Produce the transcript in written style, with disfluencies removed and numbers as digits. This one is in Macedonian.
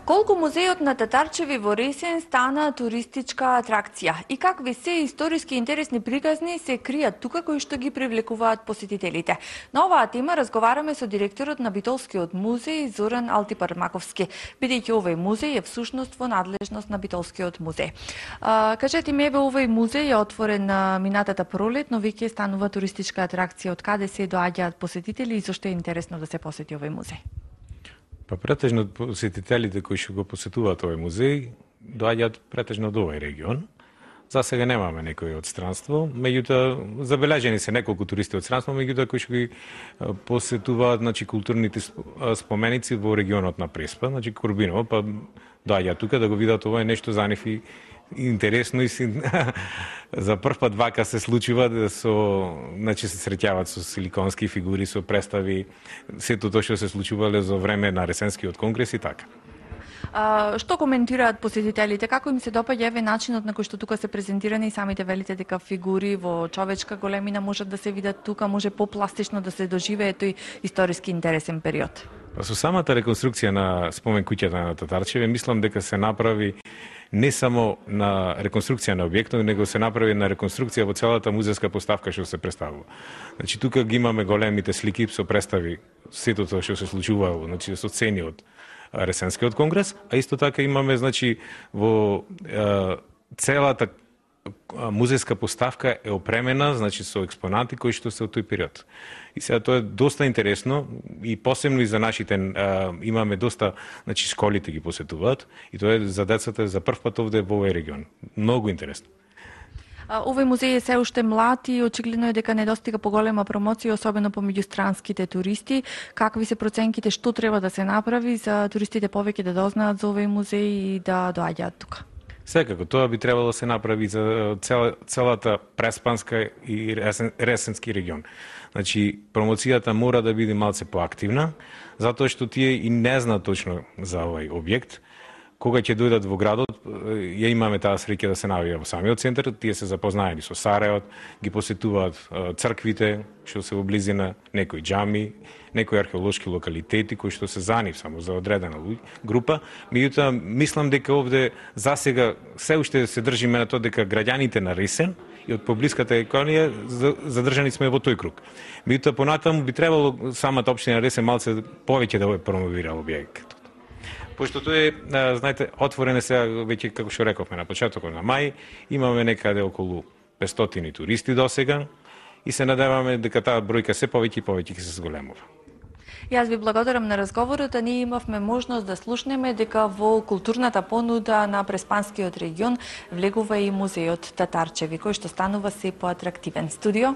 Колку музејот на Татарчеви во Ресен стана туристичка атракција и какви се историски интересни приказни се кријат тука кои што ги привлекуваат посетителите. На оваа тема разговараме со директорот на Битолскиот музеј Зоран Алтипармаковски, бидејќи овој музеј е всушност во надлежност на Битолскиот музеј. Кажете ми, еве овој музеј е отворен минатата пролет, но веќе станува туристичка атракција. Од каде се доаѓаат посетители и зошто е интересно да се посети овој музеј? Па претежно посетителите кои што го посетуваат овој музеј доаѓаат претежно од овој регион. За сега немаме некои од странство, меѓутоа забележени се неколку туристи од странство, меѓутоа кои што ги посетуваат, културните споменици во регионот на Преспа, Корбиново, па доаѓаат тука да го видат ова е нешто за нив и интересно и за прв пат вака се случува да се среќаваат со силиконски фигури, со представи, сето тоа што се случувале за време на Ресенскиот конгрес и така. Што коментираат посетителите? Како им се допаѓа еве начинот на кој што тука се презентирани и самите велите дека фигури во човечка големина можат да се видат тука, може попластично да се доживее тој историски интересен период? Со самата реконструкција на спомен куќата на Татарчеве, мислам дека се направи не само на реконструкција на објектот, него се направи на реконструкција во целата музејска поставка што се представува. Тука ги имаме големите слики со представи сето тоа што се случувало, со сцени од Ресенскиот конгрес, а исто така имаме во целата музејска поставка е опремена со експонати кои што се од тој период. И сега тоа е доста интересно и посебно и за нашите имаме доста, школите ги посетуваат и тоа е за децата за прв пат овде во овој регион. Многу интересно. Овој музеј е се уште млад и очигледно е дека не достига поголема промоција, особено помеѓу странските туристи. Какви се проценките, што треба да се направи за туристите повеќе да дознаат за овој музеј и да доаѓаат тука? Секако, тоа би требало да се направи за целата Преспанска и Ресенски регион. Промоцијата мора да биде малце поактивна, затоа што тие и не знаат точно за овој објект. Кога ќе дојдат во градот, ја имаме таа среќа да се наоѓа во самиот центар, тие се запознаени со Сарајот, ги посетуваат црквите, што се во близина, некои џами, некои археолошки локалитети кои што се за нив само за одредена група. Меѓутоа, мислам дека овде засега се уште се држиме на тоа дека граѓаните на Ресен и од поблиската еконија задржани сме во тој круг. Меѓутоа, понатаму би требало самата општина Ресен малце повеќе да промовира објектот. Пошто тоа е, знаете, отворен е сега, веќе како што рековме на почетокот на мај, имаме некаде околу 500 туристи досега и се надеваме дека таа бројка се повеќе и повеќе ќе се зголемува. Јас ви благодарам на разговорот, а ние имавме можност да слушнеме дека во културната понуда на Преспанскиот регион влегува и музејот Татарчеви, кој што станува се поатрактивен. Студио